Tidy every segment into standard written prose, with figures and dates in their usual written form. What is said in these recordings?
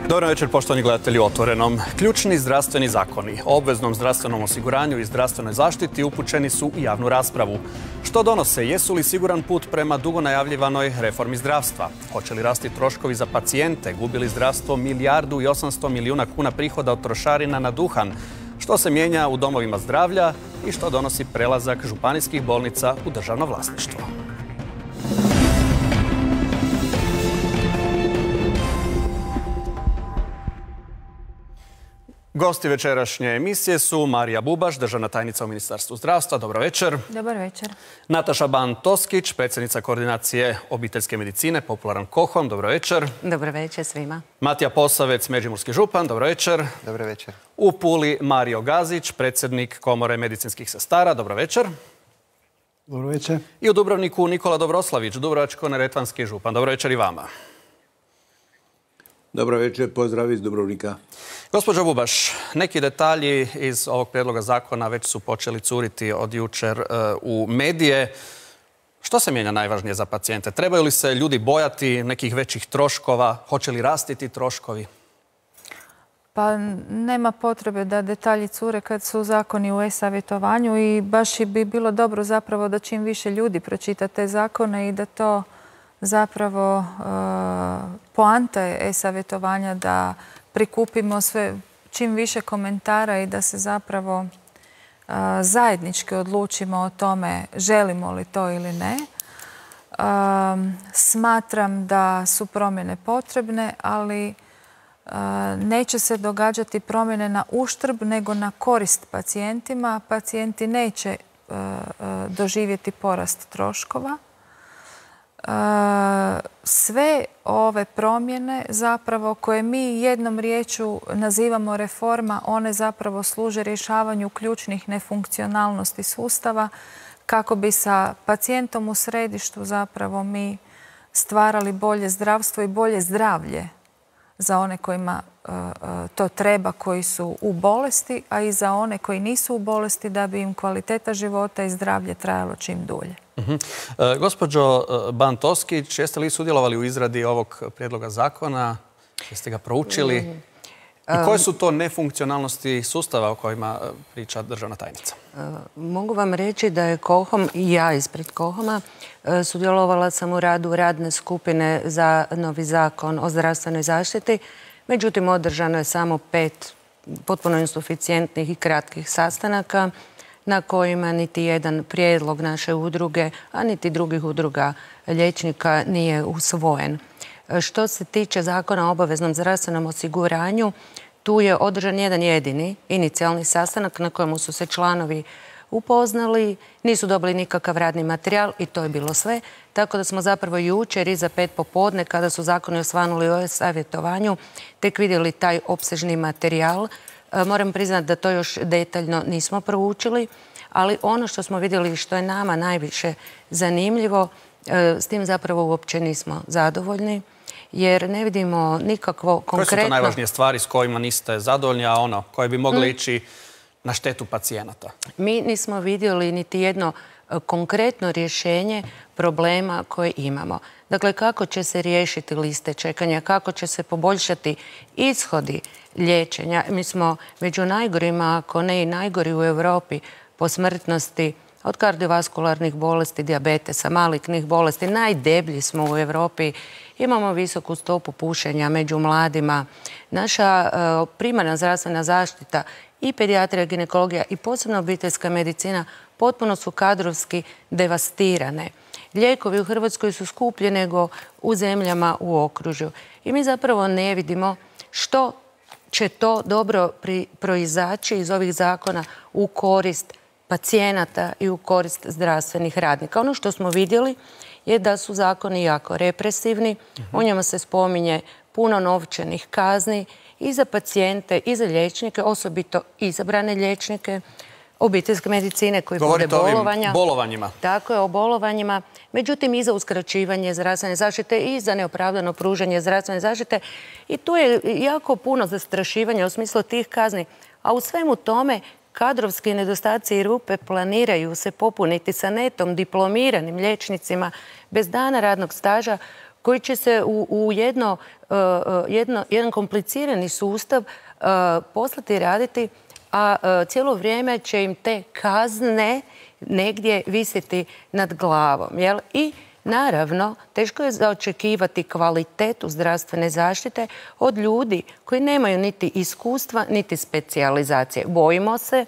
Dobar večer, poštovani gledatelji u Otvorenom. Ključni zdravstveni zakoni o obveznom zdravstvenom osiguranju i zdravstvenoj zaštiti upućeni su u javnu raspravu. Što donose? Jesu li siguran put prema dugo najavljivanoj reformi zdravstva? Hoće li rasti troškovi za pacijente? Gubi li zdravstvo 1,8 milijardi kuna prihoda od trošarina na duhan? Što se mijenja u domovima zdravlja i što donosi prelazak županijskih bolnica u državno vlasništvo? Gosti večerašnje emisije su Marija Bubaš, državna tajnica u Ministarstvu zdravstva. Dobro večer. Dobar večer. Nataša Ban-Toskić, predsjednica koordinacije obiteljske medicine, popularan KOHOM. Dobro večer. Dobro večer svima. Matija Posavec, međimurski župan. Dobro večer. Dobro večer. U Puli Mario Gazić, predsjednik Komore medicinskih sestara. Dobro večer. Dobro večer. I u Dubrovniku Nikola Dobroslavić, dubrovačko-neretvanski župan. Dobro večer i vama. Dobro večer, pozdrav iz Dubrovnika. Gospođo Bubaš, neki detalji iz ovog prijedloga zakona već su počeli curiti od jučer u medije. Što se mijenja najvažnije za pacijente? Trebaju li se ljudi bojati nekih većih troškova? Hoće li rasti ti troškovi? Pa nema potrebe da detalji cure kad su zakoni u e-savjetovanju i baš bi bilo dobro zapravo da čim više ljudi pročita te zakone i da to zapravo poanta je e-savjetovanja da prikupimo sve čim više komentara i da se zapravo zajednički odlučimo o tome želimo li to ili ne. Smatram da su promjene potrebne, ali neće se događati promjene na uštrb nego na korist pacijentima. Pacijenti neće doživjeti porast troškova. Sve ove promjene zapravo koje mi jednom riječju nazivamo reforma, one zapravo služe rješavanju ključnih nefunkcionalnosti sustava kako bi sa pacijentom u središtu zapravo mi stvarali bolje zdravstvo i bolje zdravlje za one kojima to treba, koji su u bolesti, a i za one koji nisu u bolesti da bi im kvaliteta života i zdravlje trajalo čim dulje. Gospođo Ban-Toskić, jeste li sudjelovali u izradi ovog prijedloga zakona? Jeste ga proučili? I koje su to nefunkcionalnosti sustava o kojima priča državna tajnica? Mogu vam reći da je KOHOM i ja ispred KOHOM-a sudjelovala sam u radu radne skupine za novi zakon o zdravstvenoj zaštiti. Međutim, održano je samo 5 potpuno insuficijentnih i kratkih sastanaka na kojima niti jedan prijedlog naše udruge, a niti drugih udruga liječnika nije usvojen. Što se tiče zakona o obaveznom zdravstvenom osiguranju, tu je održan jedan jedini inicijalni sastanak na kojemu su se članovi upoznali, nisu dobili nikakav radni materijal i to je bilo sve. Tako da smo zapravo jučer iza 5 popodne, kada su zakoni osvanuli o savjetovanju, tek vidjeli taj opsežni materijal. Moram priznati da to još detaljno nismo proučili, ali ono što smo vidjeli i što je nama najviše zanimljivo, s tim zapravo uopće nismo zadovoljni, jer ne vidimo nikakvo konkretno... Koje su to najvažnije stvari s kojima niste zadovoljni, a koje bi mogle ići na štetu pacijenata? Mi nismo vidjeli niti jedno konkretno rješenje problema koje imamo. Dakle, kako će se riješiti liste čekanja, kako će se poboljšati ishodi liječenja. Mi smo među najgorima, ako ne i najgori u Europi po smrtnosti od kardiovaskularnih bolesti, dijabetesa, malignih bolesti. Najdeblji smo u Europi. Imamo visoku stopu pušenja među mladima. Naša primarna zdravstvena zaštita i pedijatrija, ginekologija i posebno obiteljska medicina potpuno su kadrovski devastirane. Lijekovi u Hrvatskoj su skuplji nego u zemljama u okružju. I mi zapravo ne vidimo što će to dobro proizaći iz ovih zakona u korist pacijenata i u korist zdravstvenih radnika. Ono što smo vidjeli je da su zakoni jako represivni. U njima se spominje puno novčanih kazni i za pacijente i za liječnike, osobito izabrane liječnike obiteljske medicine koji vode bolovanja. Govorite o bolovanjima. Tako je, o bolovanjima. Međutim, i za uskraćivanje zdravstvene zaštite i za neopravdano pružanje zdravstvene zaštite. I tu je jako puno zastrašivanja u smislu tih kazni. A u svemu tome kadrovski nedostaci i rupe planiraju se popuniti sa netom diplomiranim liječnicima bez dana radnog staža koji će se u jedan komplicirani sustav poslati raditi, a cijelo vrijeme će im te kazne negdje visiti nad glavom. Jel? I naravno, teško je zaočekivati kvalitetu zdravstvene zaštite od ljudi koji nemaju niti iskustva, niti specijalizacije. Bojimo se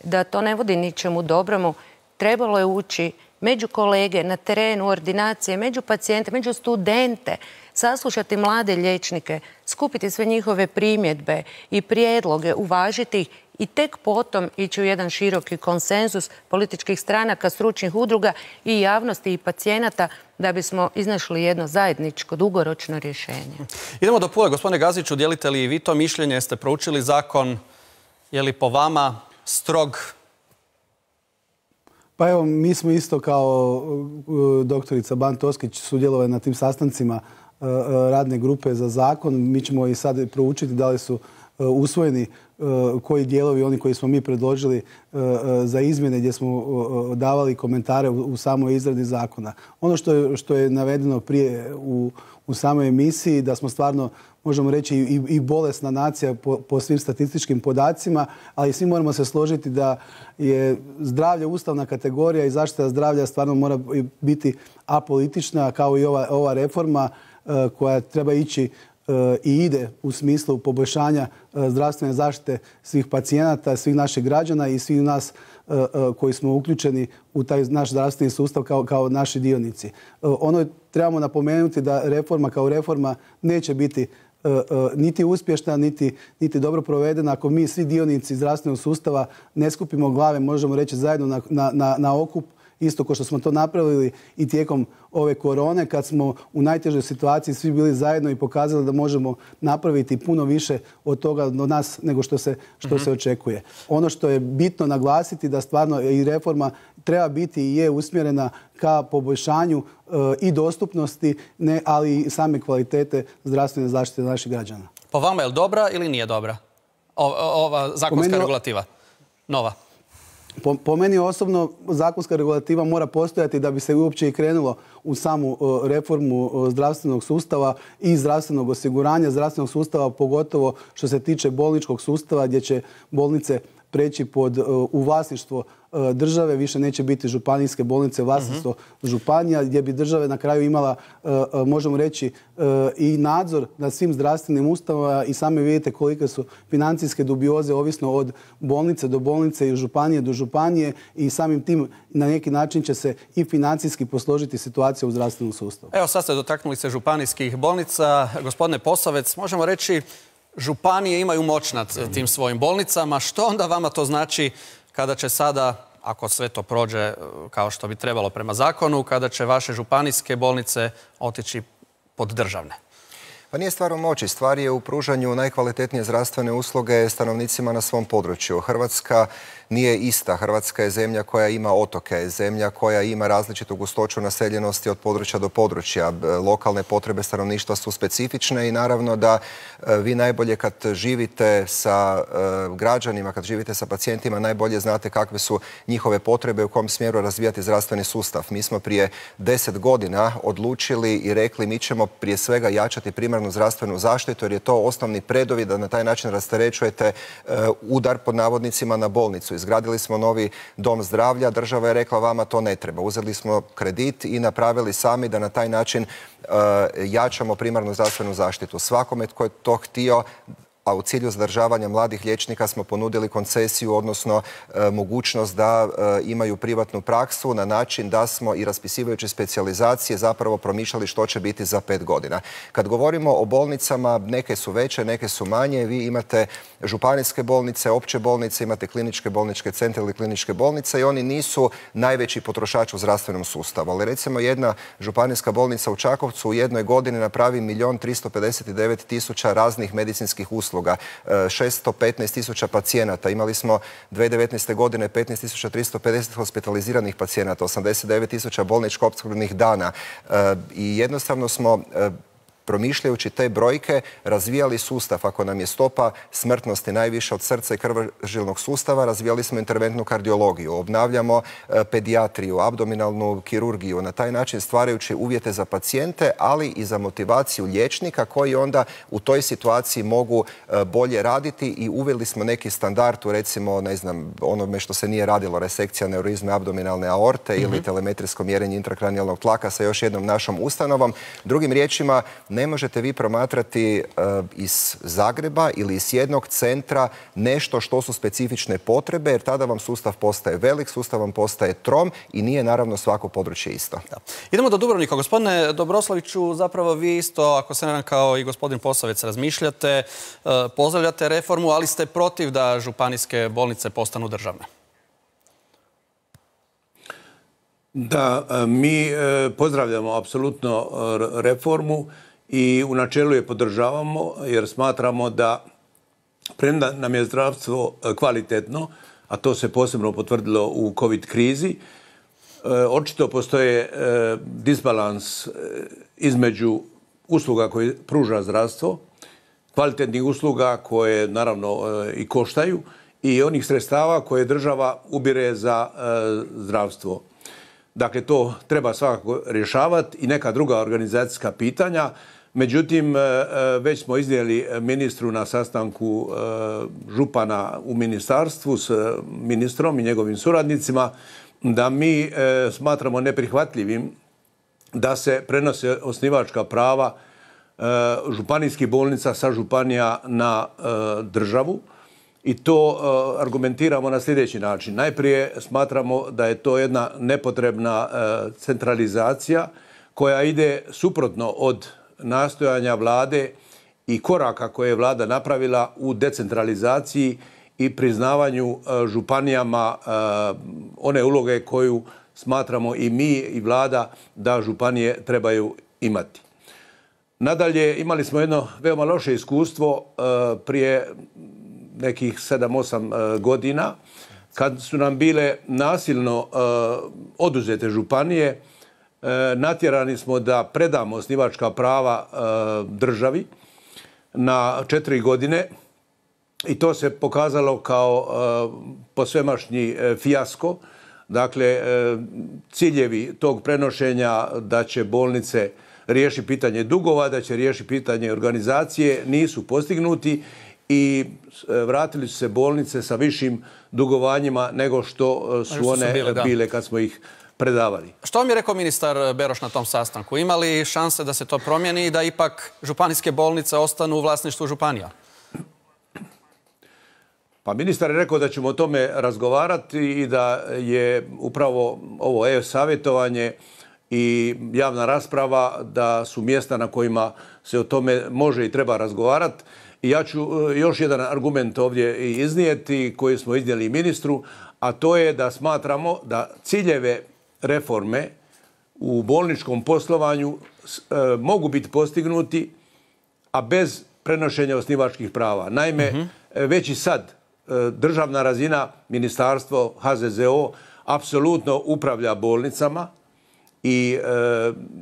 da to ne vodi ničemu dobromu. Trebalo je ući među kolege, na terenu, ordinacije, među pacijente, među studente, saslušati mlade liječnike, skupiti sve njihove primjedbe i prijedloge, uvažiti ih i tek potom ići u jedan široki konsenzus političkih stranaka, stručnih udruga i javnosti i pacijenata da bismo iznašli jedno zajedničko, dugoročno rješenje. Idemo do Pule. Gospodine Gaziću, dijelite li vi to mišljenje? Jeste proučili zakon? Je li po vama strog? Pa evo, mi smo isto kao doktorica Ban Toskić sudjelovali na tim sastancima radne grupe za zakon. Mi ćemo i sad proučiti da li su usvojeni koji dijelovi, oni koji smo mi predložili za izmjene gdje smo davali komentare u samoj izradi zakona. Ono što je navedeno prije u samoj emisiji, da smo stvarno, možemo reći, i bolesna nacija po svim statističkim podacima, ali svi moramo se složiti da je zdravlje ustavna kategorija i zaštita zdravlja stvarno mora biti apolitična, kao i ova reforma koja treba ići i ide u smislu poboljšanja zdravstvene zaštite svih pacijenata, svih naših građana i svih nas koji smo uključeni u taj naš zdravstveni sustav kao naši dionici. Ono trebamo napomenuti da reforma kao reforma neće biti niti uspješna, niti dobro provedena ako mi svi dionici zdravstvenog sustava ne skupimo glave, možemo reći, zajedno na okup, isto kao što smo to napravili i tijekom ove korone, kad smo u najtežoj situaciji svi bili zajedno i pokazali da možemo napraviti puno više od toga do nas nego što se očekuje. Ono što je bitno naglasiti da stvarno i reforma treba biti i je usmjerena ka poboljšanju i dostupnosti, ali i same kvalitete zdravstvene zaštite naših građana. Po vama je li dobra ili nije dobra ova zakonska regulativa? Nova. Po meni osobno zakonska regulativa mora postojati da bi se uopće i krenulo u samu reformu zdravstvenog sustava i zdravstvenog osiguranja, zdravstvenog sustava, pogotovo što se tiče bolničkog sustava gdje će bolnice preći u vlasništvo države, više neće biti županijske bolnice, vlasništvo županija, gdje bi država na kraju imala, možemo reći, i nadzor nad svim zdravstvenim ustanovama i sami vidite kolike su financijske dubioze ovisno od bolnice do bolnice i županije do županije i samim tim na neki način će se i financijski posložiti situacija u zdravstvenom sustavu. Evo, sad ste dotaknuli se županijskih bolnica. Gospodine Posavec, možemo reći županije imaju moć nad tim svojim bolnicama. Što onda vama to znači kada će sada, ako sve to prođe kao što bi trebalo prema zakonu, kada će vaše županijske bolnice otići pod državne? Pa nije stvar u moći, stvar je u pružanju najkvalitetnije zdravstvene usluge stanovnicima na svom području. Hrvatska nije ista. Hrvatska je zemlja koja ima otoke, zemlja koja ima različitu gustoću naseljenosti od područja do područja. Lokalne potrebe stanovništva su specifične i naravno da vi najbolje kad živite sa građanima, kad živite sa pacijentima, najbolje znate kakve su njihove potrebe, u kom smjeru razvijati zdravstveni sustav. Mi smo prije 10 godina odlučili i rekli mi ćemo prije svega jačati primarnu zdravstvenu zaštitu jer je to osnovni preduvjet da na taj način rasterećujete udar pod navodnicima na bolnicu. Izgradili smo novi dom zdravlja, država je rekla vama to ne treba. Uzeli smo kredit i napravili sami da na taj način jačamo primarnu zdravstvenu zaštitu. Svakome tko je to htio, a u cilju zadržavanja mladih liječnika smo ponudili koncesiju, odnosno mogućnost da imaju privatnu praksu na način da smo i raspisivajući specijalizacije zapravo promišljali što će biti za 5 godina. Kad govorimo o bolnicama, neke su veće, neke su manje. Vi imate županijske bolnice, opće bolnice, imate kliničke bolničke centre ili kliničke bolnice i oni nisu najveći potrošač u zdravstvenom sustavu. Ali recimo jedna županijska bolnica u Čakovcu u jednoj godini napravi 1.359.000 raznih medicinskih usluga. 615.000 pacijenata. Imali smo 2019. godine 15.350 hospitaliziranih pacijenata, 89.000 bolničko opskrbnih dana i jednostavno smo promišljajući te brojke, razvijali sustav. Ako nam je stopa smrtnosti najviša od srca i krvožilnog sustava, razvijali smo interventnu kardiologiju, obnavljamo pedijatriju, abdominalnu kirurgiju, na taj način stvarajući uvjete za pacijente, ali i za motivaciju liječnika koji onda u toj situaciji mogu bolje raditi i uveli smo neki standard u, recimo, ne znam, onome što se nije radilo, resekcija aneurizme abdominalne aorte ili telemetrijsko mjerenje intrakranijalnog tlaka sa još jednom našom ustanovom. Drugim riječima, ne možete vi promatrati iz Zagreba ili iz jednog centra nešto što su specifične potrebe, jer tada vam sustav postaje velik, sustav vam postaje trom i nije naravno svako područje isto. Da. Idemo do Dubrovnika. Gospodine Dobroslaviću, zapravo vi isto, ako se ne znam, kao i gospodin Posavec, razmišljate, pozdravljate reformu, ali ste protiv da županijske bolnice postanu državne. Da, mi pozdravljamo apsolutno reformu i u načelu je podržavamo jer smatramo da premda nam je zdravstvo kvalitetno, a to se posebno potvrdilo u COVID krizi, očito postoje disbalans između usluga koje pruža zdravstvo, kvalitetnih usluga koje naravno i koštaju i onih sredstava koje država ubire za zdravstvo. Dakle, to treba svakako rješavati i neka druga organizacijska pitanja. Međutim, već smo iznijeli ministru na sastanku župana u ministarstvu s ministrom i njegovim suradnicima da mi smatramo neprihvatljivim da se prenose osnivačka prava županijskih bolnica sa županija na državu. I to argumentiramo na sljedeći način. Najprije smatramo da je to jedna nepotrebna centralizacija koja ide suprotno od nastojanja vlade i koraka koje je vlada napravila u decentralizaciji i priznavanju županijama one uloge koju smatramo i mi i vlada da županije trebaju imati. Nadalje, imali smo jedno veoma loše iskustvo prije nekih 7-8 godina, kad su nam bile nasilno oduzete županije, natjerani smo da predamo osnivačka prava državi na 4 godine i to se pokazalo kao posvemašnji fijasko. Dakle, ciljevi tog prenošenja da će bolnice riješiti pitanje dugova, da će riješiti pitanje organizacije, nisu postignuti i vratili su se bolnice sa višim dugovanjima nego što su one bile kad smo ih predavali. Što vam je rekao ministar Beroš na tom sastanku? Ima li šanse da se to promijeni i da ipak županijske bolnice ostanu u vlasništvu županija? Pa ministar je rekao da ćemo o tome razgovarati i da je upravo ovo e-savjetovanje i javna rasprava da su mjesta na kojima se o tome može i treba razgovarati. I ja ću još jedan argument ovdje iznijeti koji smo iznijeli i ministru, a to je da smatramo da ciljeve reforme u bolničkom poslovanju mogu biti postignuti, a bez prenošenja osnivačkih prava. Naime, već i sad državna razina, ministarstvo, HZZO, apsolutno upravlja bolnicama i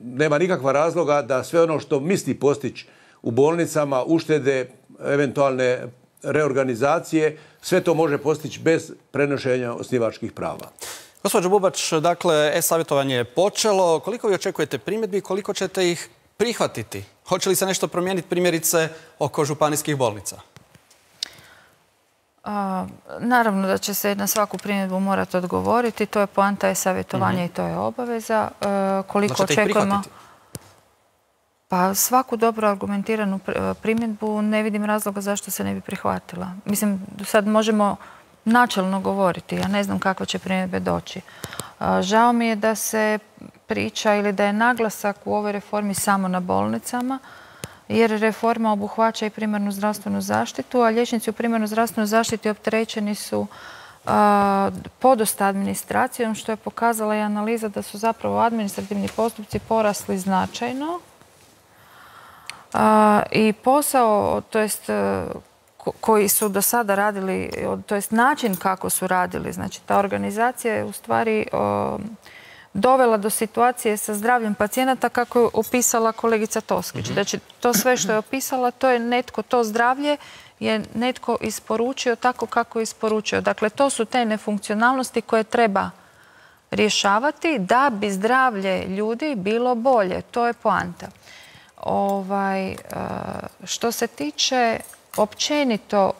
nema nikakva razloga da sve ono što misli postići u bolnicama, uštede, eventualne reorganizacije, sve to može postići bez prenošenja osnivačkih prava. Gospođo Bubač, dakle, e-savjetovanje je počelo. Koliko vi očekujete primjedbi i koliko ćete ih prihvatiti? Hoće li se nešto promijeniti primjerice oko županijskih bolnica? Naravno da će se na svaku primjedbu morati odgovoriti. To je poanta e-savjetovanja i to je obaveza. Koliko očekujemo? Pa svaku dobro argumentiranu primjedbu ne vidim razloga zašto se ne bi prihvatila. Mislim, sad možemo načelno govoriti. Ja ne znam kakve će primjedbe doći. Žao mi je da se priča ili da je naglasak u ovoj reformi samo na bolnicama, jer reforma obuhvaća i primarnu zdravstvenu zaštitu, a liječnici u primarnoj zdravstvenoj zaštiti opterećeni su podosta administracijom, što je pokazala i analiza da su zapravo administrativni postupci porasli značajno. I posao, to jest koji su do sada radili, to jest način kako su radili, znači ta organizacija je u stvari dovela do situacije sa zdravljem pacijenata kako je opisala kolegica Toskić. Znači, to sve što je opisala, to je netko, to zdravlje je netko isporučio tako kako je isporučio. Dakle, to su te nefunkcionalnosti koje treba rješavati da bi zdravlje ljudi bilo bolje. To je poanta. Što se tiče općenito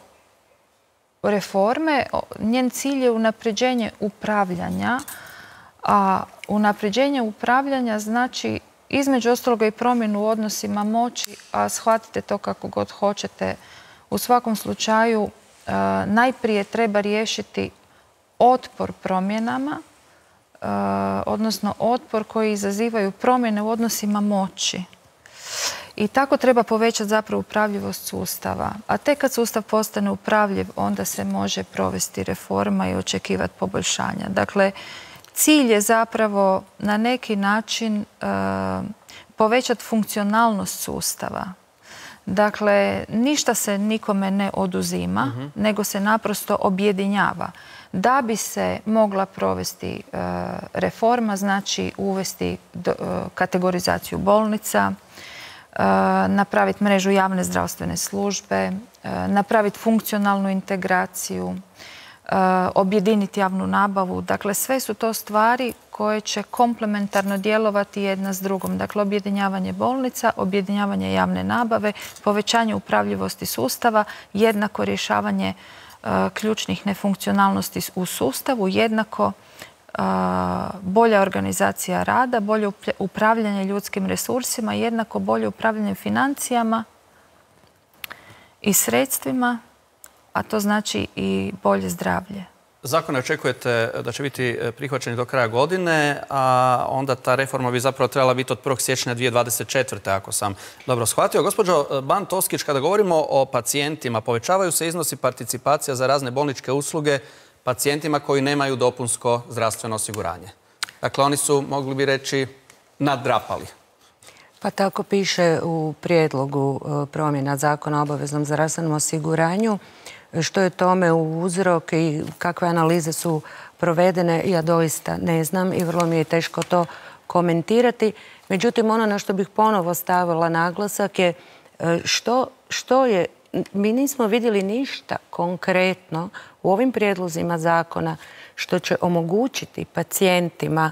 reforme, njen cilj je unapređenje upravljanja, a unapređenje upravljanja znači između ostaloga i promjenu u odnosima moći, a shvatite to kako god hoćete. U svakom slučaju najprije treba riješiti otpor promjenama, odnosno otpor koji izazivaju promjene u odnosima moći. I tako treba povećati zapravo upravljivost sustava. A tek kad sustav postane upravljiv, onda se može provesti reforma i očekivati poboljšanja. Dakle, cilj je zapravo na neki način povećati funkcionalnost sustava. Dakle, ništa se nikome ne oduzima, nego se naprosto objedinjava. Da bi se mogla provesti reforma, znači uvesti kategorizaciju bolnica, napraviti mrežu javne zdravstvene službe, napraviti funkcionalnu integraciju, objediniti javnu nabavu. Dakle, sve su to stvari koje će komplementarno djelovati jedna s drugom. Dakle, objedinjavanje bolnica, objedinjavanje javne nabave, povećanje upravljivosti sustava, jednako rješavanje ključnih nefunkcionalnosti u sustavu, jednako bolja organizacija rada, bolje upravljanje ljudskim resursima, jednako bolje upravljanje financijama i sredstvima, a to znači i bolje zdravlje. Zakone očekujete da će biti prihvaćeni do kraja godine, a onda ta reforma bi zapravo trebala biti od 1. siječnja 2024. ako sam dobro shvatio. Gospođo Ban Toskić, kada govorimo o pacijentima, povećavaju se iznosi participacija za razne bolničke usluge pacijentima koji nemaju dopunsko zdravstveno osiguranje. Dakle, oni su, mogli bi reći, naddrapali. Pa tako piše u prijedlogu promjena Zakona o obaveznom zdravstvenom osiguranju. Što je tome uzrok i kakve analize su provedene, ja doista ne znam i vrlo mi je teško to komentirati. Međutim, ono na što bih ponovo stavila naglasak je što je, mi nismo vidjeli ništa konkretno u ovim prijedlozima zakona što će omogućiti pacijentima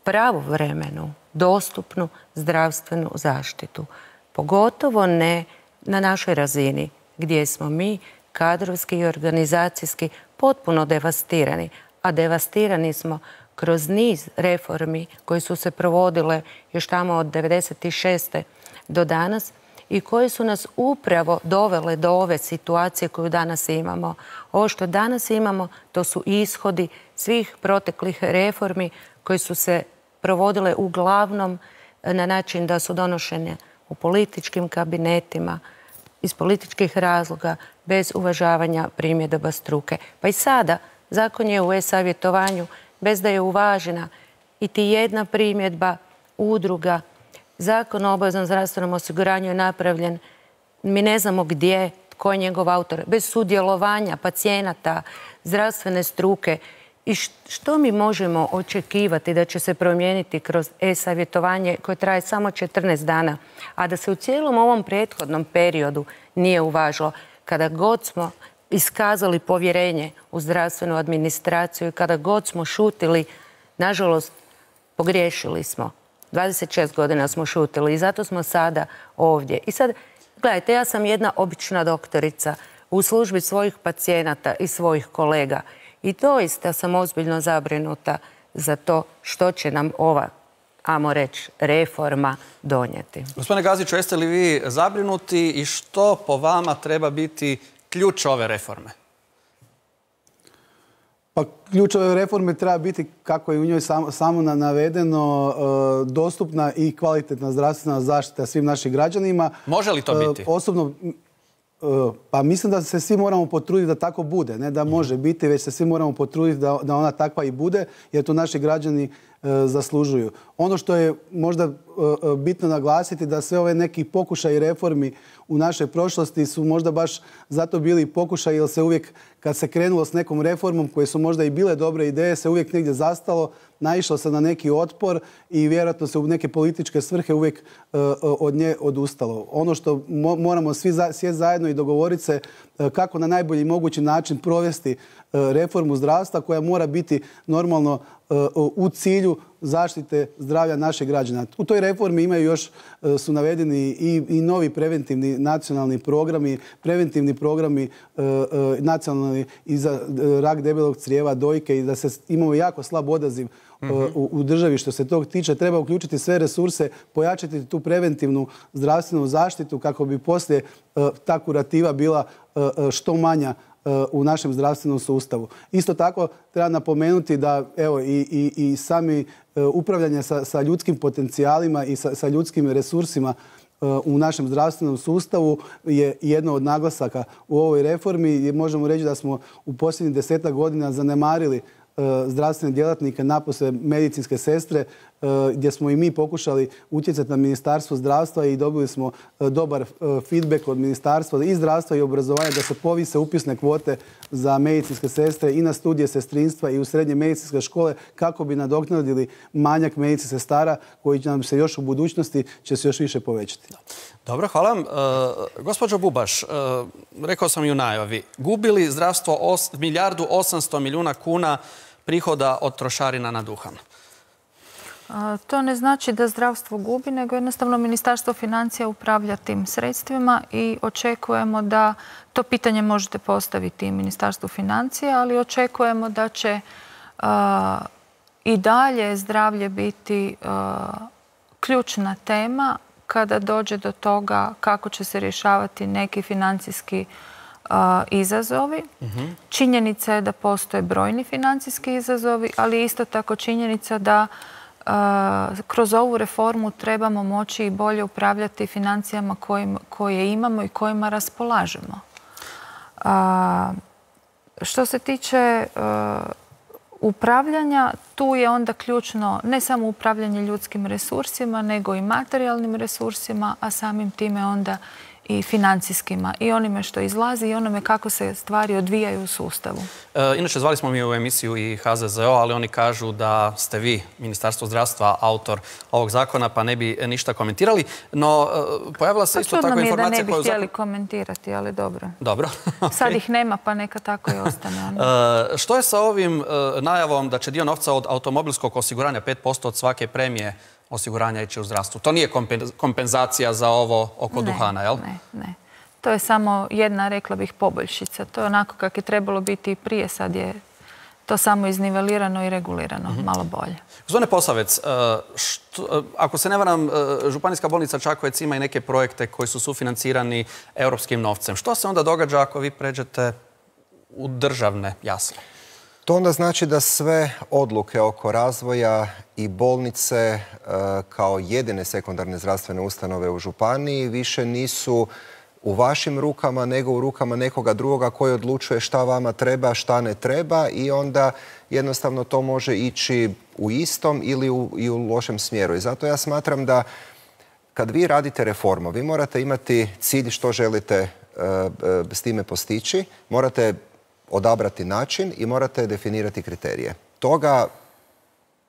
pravovremenu, dostupnu zdravstvenu zaštitu. Pogotovo ne na našoj razini gdje smo mi kadrovski i organizacijski potpuno devastirani. A devastirani smo kroz niz reformi koje su se provodile još tamo od 1996. do danas i koje su nas upravo dovele do ove situacije koju danas imamo. Ovo što danas imamo, to su ishodi svih proteklih reformi koje su se provodile uglavnom na način da su donošene u političkim kabinetima, iz političkih razloga, bez uvažavanja primjedaba struke. Pa i sada zakon je u e-savjetovanju bez da je uvažena iti jedna primjedba udruga. Zakon o obaveznom zdravstvenom osiguranju je napravljen, mi ne znamo gdje, tko je njegov autor, bez sudjelovanja pacijenata, zdravstvene struke. I što mi možemo očekivati da će se promijeniti kroz e-savjetovanje koje traje samo 14 dana, a da se u cijelom ovom prethodnom periodu nije uvažilo? Kada god smo iskazali povjerenje u zdravstvenu administraciju i kada god smo šutili, nažalost, pogriješili smo. 26 godina smo šutili i zato smo sada ovdje. I sad, gledajte, ja sam jedna obična doktorica u službi svojih pacijenata i svojih kolega. I doista sam ozbiljno zabrinuta za to što će nam ova, ajmo reći, reforma donijeti. Gospodine Gaziću, jeste li vi zabrinuti i što po vama treba biti ključ ove reforme? Pa ključ ove reforme treba biti, kako je u njoj samo navedeno, dostupna i kvalitetna zdravstvena zaštita svim našim građanima. Može li to biti? Osobno, pa mislim da se svi moramo potruditi da tako bude. Ne da može biti, već se svi moramo potruditi da ona takva i bude, jer to naši građani zaslužuju. Ono što je možda bitno naglasiti da sve ove neki pokušaj reformi u našoj prošlosti su možda baš zato bili pokušaj jer se uvijek kad se krenulo s nekom reformom koje su možda i bile dobre ideje se uvijek negdje zastalo, naišlo se na neki otpor i vjerojatno se u neke političke svrhe uvijek od nje odustalo. Ono što moramo svi sjesti zajedno i dogovoriti se kako na najbolji mogući način provesti reformu zdravstva koja mora biti normalno u cilju zaštite zdravlja naših građana. U toj reformi imaju još, su navedeni i novi preventivni nacionalni programi, preventivni programi nacionalni i za rak debelog crijeva, dojke i da se imamo jako slab odaziv u državi što se tog tiče. Treba uključiti sve resurse, pojačati tu preventivnu zdravstvenu zaštitu kako bi poslije ta kurativa bila što manja u našem zdravstvenom sustavu. Isto tako treba napomenuti da evo i sami upravljanje sa ljudskim potencijalima i sa ljudskim resursima u našem zdravstvenom sustavu je jedno od naglasaka u ovoj reformi. Možemo reći da smo u posljednjih 10 godina zanemarili zdravstvene djelatnike, napose medicinske sestre, gdje smo i mi pokušali utjecati na Ministarstvo zdravstva i dobili smo dobar feedback od Ministarstva i zdravstva i obrazovanja da se povise upisne kvote za medicinske sestre i na studije sestrinstva i u srednje medicinske škole kako bi nadoknadili manjak medicinskih sestara koji će nam se još u budućnosti će se još više povećati. Dobro, hvala vam. Gospođo Bubaš, rekao sam i u najavi, gubili zdravstvo 1,8 milijardi kuna prihoda od trošarina na duhan. To ne znači da zdravstvo gubi, nego jednostavno Ministarstvo financija upravlja tim sredstvima i očekujemo da, to pitanje možete postaviti i Ministarstvu financija, ali očekujemo da će i dalje zdravlje biti ključna tema kada dođe do toga kako će se rješavati neki financijski izazovi. Činjenica je da postoje brojni financijski izazovi, ali isto tako činjenica da kroz ovu reformu trebamo moći i bolje upravljati financijama koje imamo i kojima raspolažemo. Što se tiče upravljanja, tu je onda ključno ne samo upravljanje ljudskim resursima, nego i materijalnim resursima, a samim time onda i financijskima, i onime što izlazi i onome kako se stvari odvijaju u sustavu. Inače, zvali smo mi u emisiju i HZZO, ali oni kažu da ste vi, Ministarstvo zdravstva, autor ovog zakona, pa ne bi ništa komentirali. No, pojavila se isto tako informacija... Čudno mi je da ne bi htjeli komentirati, ali dobro. Dobro. Sad ih nema, pa neka tako i ostane. Što je sa ovim najavom da će dio novca od automobilskog osiguranja, 5% od svake premije osiguranja ići u zdravstvu? To nije kompenzacija za ovo oko duhana, jel? Ne. To je samo jedna, rekla bih, poboljšica. To je onako kako je trebalo biti i prije. Sad je to samo iznivelirano i regulirano. Malo bolje. Gospodine Posavec, ako se ne varam, Županijska bolnica Čakovec ima i neke projekte koji su sufinancirani europskim novcem. Što se onda događa ako vi pređete u državne jasle? To onda znači da sve odluke oko razvoja i bolnice kao jedine sekundarne zdravstvene ustanove u županiji više nisu u vašim rukama, nego u rukama nekoga drugoga koji odlučuje šta vama treba, šta ne treba i onda jednostavno to može ići u istom ili i u lošem smjeru. I zato ja smatram da kad vi radite reformu, vi morate imati cilj što želite s time postići, morate odabrati način i morate definirati kriterije. Toga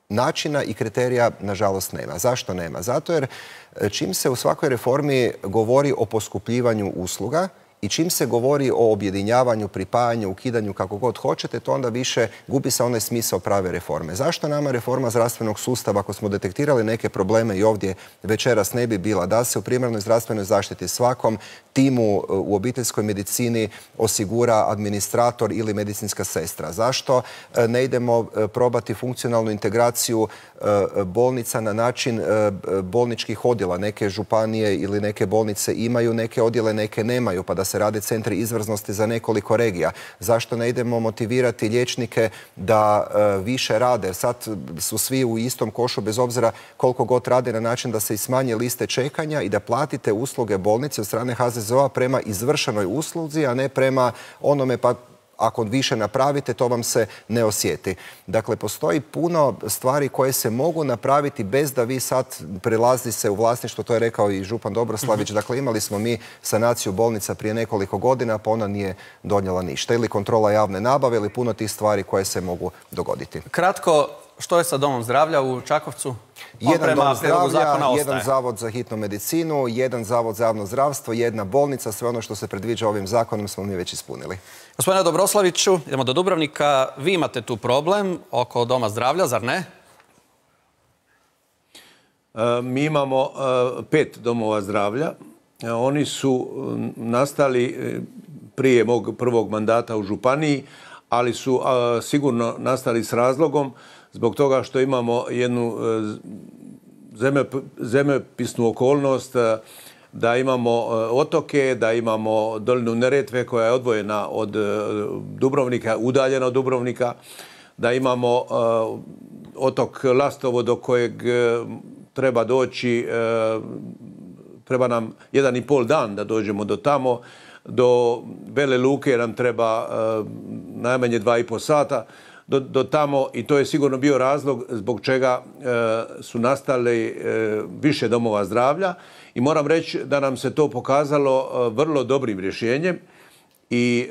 načina i kriterija, nažalost, nema. Zašto nema? Zato jer čim se u svakoj reformi govori o poskupljivanju usluga i čim se govori o objedinjavanju, pripajanju, ukidanju, kako god hoćete, to onda više gubi se onaj smisao prave reforme. Zašto nama reforma zdravstvenog sustava, ako smo detektirali neke probleme i ovdje večeras ne bi bila, da se u primarnoj zdravstvenoj zaštiti svakom timu u obiteljskoj medicini osigura administrator ili medicinska sestra? Zašto ne idemo probati funkcionalnu integraciju bolnica na način bolničkih odjela? Neke županije ili neke bolnice imaju neke odjele, neke nemaju, pa da se rade centri izvrsnosti za nekoliko regija. Zašto ne idemo motivirati liječnike da više rade? Sad su svi u istom košu bez obzira koliko god rade na način da se i smanje liste čekanja i da platite usluge bolnice od strane HZZO-a prema izvršenoj usluzi, a ne prema onome pa ako više napravite, to vam se ne osjeti. Dakle, postoji puno stvari koje se mogu napraviti bez da vi sad prelazi se u vlasništvo, to je rekao i župan Dobroslavić. Dakle, imali smo mi sanaciju bolnica prije nekoliko godina, pa ona nije donijela ništa. Ili kontrola javne nabave, ili puno tih stvari koje se mogu dogoditi. Kratko, što je sa domom zdravlja u Čakovcu? Jedan dom zdravlja, jedan zavod za hitnu medicinu, jedan zavod za javno zdravstvo, jedna bolnica, sve ono što se predviđa ovim zakonom smo mi već ispunili. Gospodine Dobroslaviću, idemo do Dubrovnika. Vi imate tu problem oko doma zdravlja, zar ne? Mi imamo 5 domova zdravlja. Oni su nastali prije mog prvog mandata u županiji, ali su sigurno nastali s razlogom zbog toga što imamo jednu zemljopisnu okolnost da imamo otoke, da imamo dolinu Neretve koja je odvojena od Dubrovnika, udaljena od Dubrovnika, da imamo otok Lastovo do kojeg treba doći, treba nam 1,5 dan da dođemo do tamo, do Vele Luke nam treba najmanje 2,5 sata do tamo i to je sigurno bio razlog zbog čega su nastali više domova zdravlja i moram reći da nam se to pokazalo vrlo dobrim rješenjem i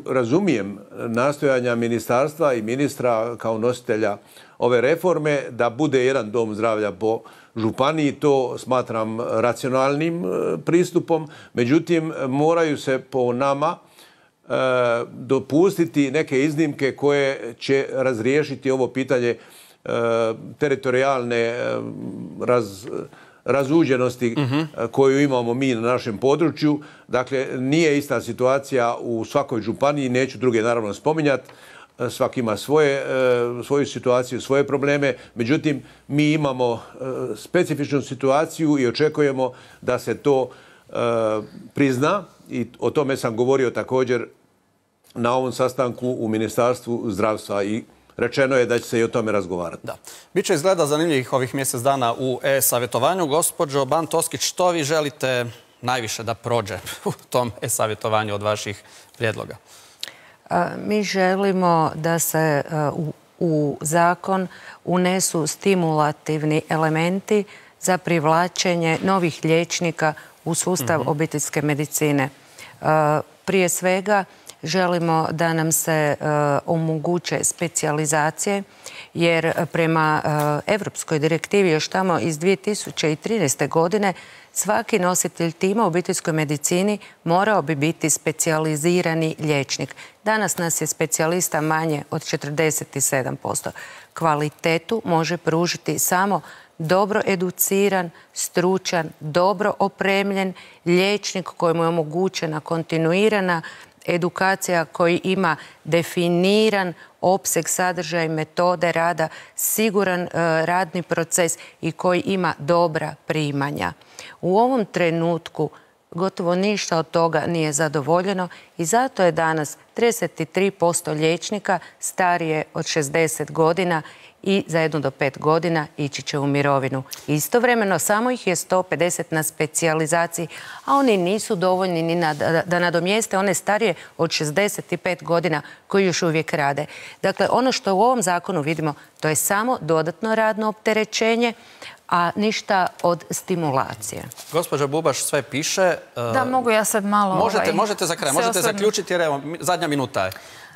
razumijem nastojanja ministarstva i ministra kao nositelja ove reforme da bude jedan dom zdravlja po županiji. To smatram racionalnim pristupom, međutim moraju se po nama dopustiti neke iznimke koje će razriješiti ovo pitanje teritorijalne razuđenosti koju imamo mi na našem području. Dakle, nije ista situacija u svakoj županiji, neću druge naravno spominjati, svaki ima svoju situaciju, svoje probleme, međutim mi imamo specifičnu situaciju i očekujemo da se to prizna i o tome sam govorio također na ovom sastanku u Ministarstvu zdravstva i rečeno je da će se i o tome razgovarati. Da. Biće izgleda zanimljivih ovih mjesec dana u e-savjetovanju. Gospođo Ban Toskić, što vi želite najviše da prođe u tom e-savjetovanju od vaših prijedloga? Mi želimo da se u zakon unesu stimulativni elementi za privlačenje novih liječnika u sustav obiteljske medicine. Prije svega želimo da nam se omoguće specijalizacije, jer prema Europskoj direktivi još tamo iz 2013. godine svaki nositelj tima u obiteljskoj medicini morao bi biti specijalizirani liječnik. Danas nas je specijalista manje od 47%. Kvalitetu može pružiti samo dobro educiran, stručan, dobro opremljen liječnik kojemu je omogućena kontinuirana edukacija, koji ima definiran opseg, sadržaj, metode rada, siguran radni proces i koji ima dobra primanja. U ovom trenutku gotovo ništa od toga nije zadovoljeno i zato je danas 33% liječnika starije od 60 godina i za 1 do 5 godina ići će u mirovinu. Istovremeno samo ih je 150 na specijalizaciji, a oni nisu dovoljni ni da nadomjeste one starije od 65 godina koji još uvijek rade. Dakle, ono što u ovom zakonu vidimo, to je samo dodatno radno opterećenje, a ništa od stimulacije. Gospođa Bubaš sve piše. Da, mogu ja sad malo... Možete za kraj, možete zaključiti jer evo, zadnja minuta je.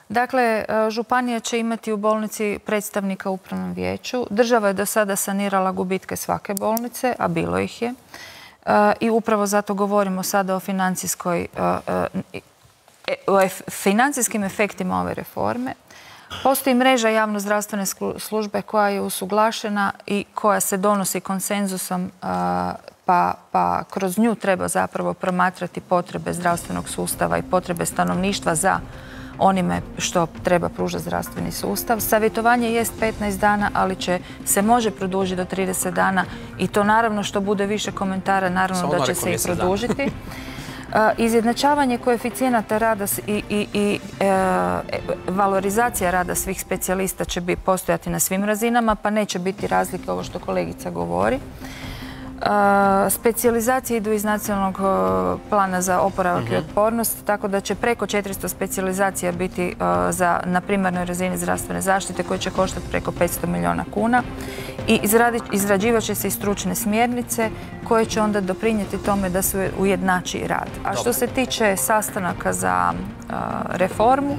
Dakle, županija će imati u bolnici predstavnika u upravnom vijeću. Država je do sada sanirala gubitke svake bolnice, a bilo ih je. I upravo zato govorimo sada o financijskim efektima ove reforme. Postoji mreža javno-zdravstvene službe koja je usuglašena i koja se donosi konsenzusom, pa kroz nju treba zapravo promatrati potrebe zdravstvenog sustava i potrebe stanovništva za onime što treba pružati zdravstveni sustav. Savjetovanje jest 15 dana, ali se može produžiti do 30 dana i to naravno što bude više komentara, naravno da će se i produžiti. Izjednačavanje koeficijenata rada i valorizacija rada svih specijalista će postojati na svim razinama, pa neće biti razlike ovo što kolegica govori. Specijalizacije idu iz nacionalnog plana za oporavak i otpornost, tako da će preko 400 specijalizacija biti na primarnoj razini zdravstvene zaštite koje će koštati preko 500 milijuna kuna. I izrađivat će se i stručne smjernice koje će onda doprinijeti tome da se ujednači rad. A što se tiče sastanaka za reformu,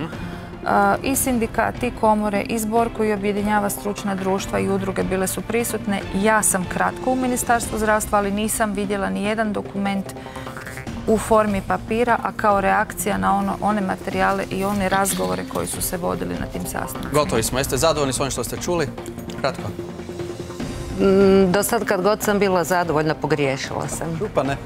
i sindikat, i komore, i zbor koji objedinjava stručna društva i udruge bile su prisutne. Ja sam kratko u Ministarstvu zdravstva, ali nisam vidjela ni jedan dokument u formi papira, a kao reakcija na one materijale i one razgovore koji su se vodili na tim sastancima. Gotovi smo. Jeste zadovoljni s ovim što ste čuli? Kratko. Do sad kad god sam bila zadovoljna, pogriješila sam. Pa ne.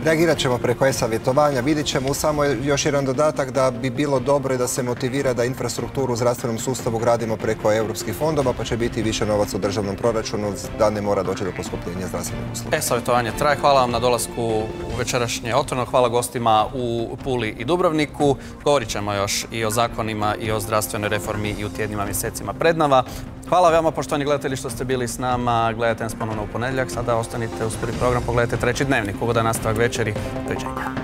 Reagirat ćemo preko e-savjetovanja. Vidjet ćemo samo još jedan dodatak da bi bilo dobro i da se motivira da infrastrukturu u zdravstvenom sustavu gradimo preko europskih fondova, pa će biti više novaca u državnom proračunu, da ne mora doći do poskupljenja zdravstvenih usluga. E-savjetovanje traje. Hvala vam na dolasku u večerašnje Otvoreno. Hvala gostima u Puli i Dubrovniku. Govorit ćemo još i o zakonima i o zdravstvenoj reformi i u tjednima, mjesecima pred nama. Hvala vama, poštovani gledatelji, što ste bili s nama. Gledajte nas ponovno u ponedjeljak. Sada ostanite uz prvi program. Pogledajte Treći dnevnik. Ugodan nastavak večeri. Doviđenja.